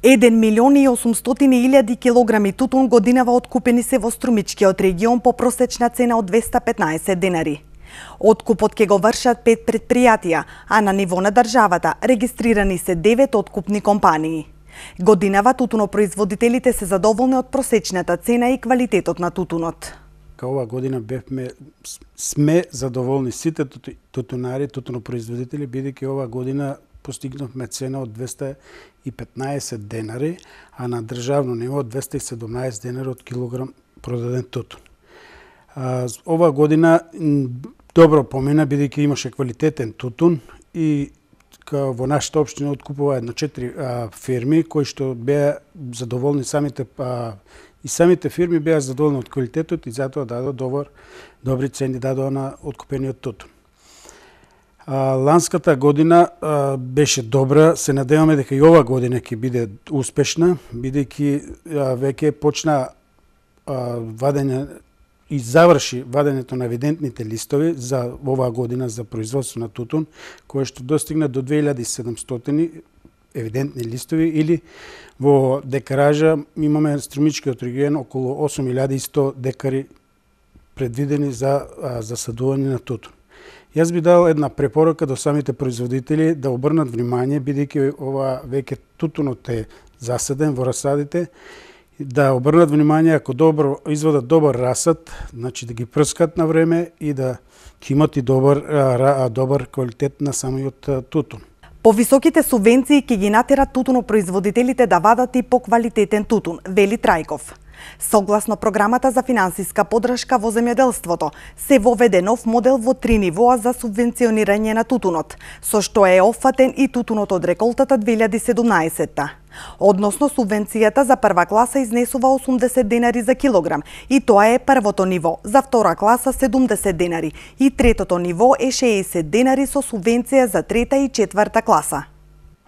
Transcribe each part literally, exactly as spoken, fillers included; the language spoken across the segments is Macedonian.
еден милион и осумстотини илјади килограми тутун годинава откупени се во Струмичкиот регион по просечна цена од двесте петнаесет денари. Откупот ќе го вршат пет претпријатија, а на ниво на државата регистрирани се девет откупни компании. Годинава тутунопроизводителите се задоволни од просечната цена и квалитетот на тутунот. Ова година бевме сме задоволни сите тутунари, тутунопроизводители, бидејќи ова година постигнавме цена од двесте и петнаесет денари, а на државно ниво двесте и седумнаесет денари од килограм продаден тутун. Ова година добро помина, бидејќи имаше квалитетен тутун и во нашата општина откупува една четири фирми кои што беа задоволни самите а, и самите фирми беа задоволни од квалитетот и затоа дадоа добар добри цени дадоа на откупениот тутун. А, ланската година а, беше добра, се надеваме дека и ова година ќе биде успешна, бидејќи веќе почна а, вадење и заврши вадењето на евидентните листови за оваа година за производство на тутун, кое што достигна до две илјади и седумстотини евидентни листови, или во декаража имаме Струмичкиот регион околу осум илјади и сто декари предвидени за засадување на тутун. Јас би дал една препорака до самите производители да обрнат внимание, бидејќи ова веќе тутунот е засаден во расадите, да обрнат внимание ако добро извадат добар расад, значи да ги прскат на време и да ќе имат и добар добар квалитет на самиот тутун. Повисоките субвенции ќе ги натерат тутунопроизводителите да вадат и поквалитетен тутун, вели Трајков. Согласно програмата за финансиска поддршка во земјоделството, се воведе нов модел во три нивоа за субвенционирање на тутунот, со што е опфатен и тутунот од реколтата две илјади и седумнаесетта. Односно, субвенцијата за прва класа изнесува осумдесет денари за килограм, и тоа е првото ниво, за втора класа седумдесет денари, и третото ниво е шеесет денари со субвенција за трета и четврта класа.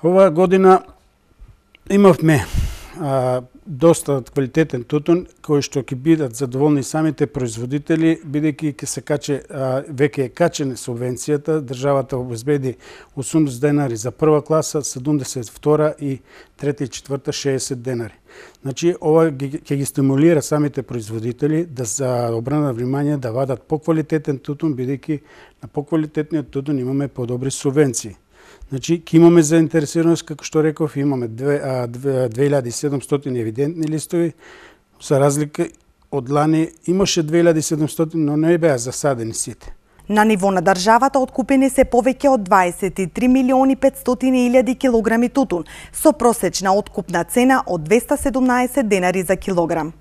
Оваа година имавме а, доста квалитетен тутун, кој што ќе бидат задоволни самите производители, бидејќи ќе се каче, а, веќе е качена субвенцијата, државата обезбеди осумдесет денари за прва класа, седумдесет втора и трета и четврта шеесет денари. Значи, ова ќе ги стимулира самите производители да се обрнат внимание да вадат поквалитетен тутун, бидејќи на поквалитетниот тутун имаме подобри субвенции. Значи, ќе имаме заинтересираност, како што реков, имаме две илјади и седумстотини евидентни листови, за разлика од лани имаше две илјади и седумстотини, но не беа засадени сите. На ниво на државата откупени се повеќе од дваесет и три милиони и петстотини илјади килограми тутун, со просечна откупна цена од двесте седумнаесет денари за килограм.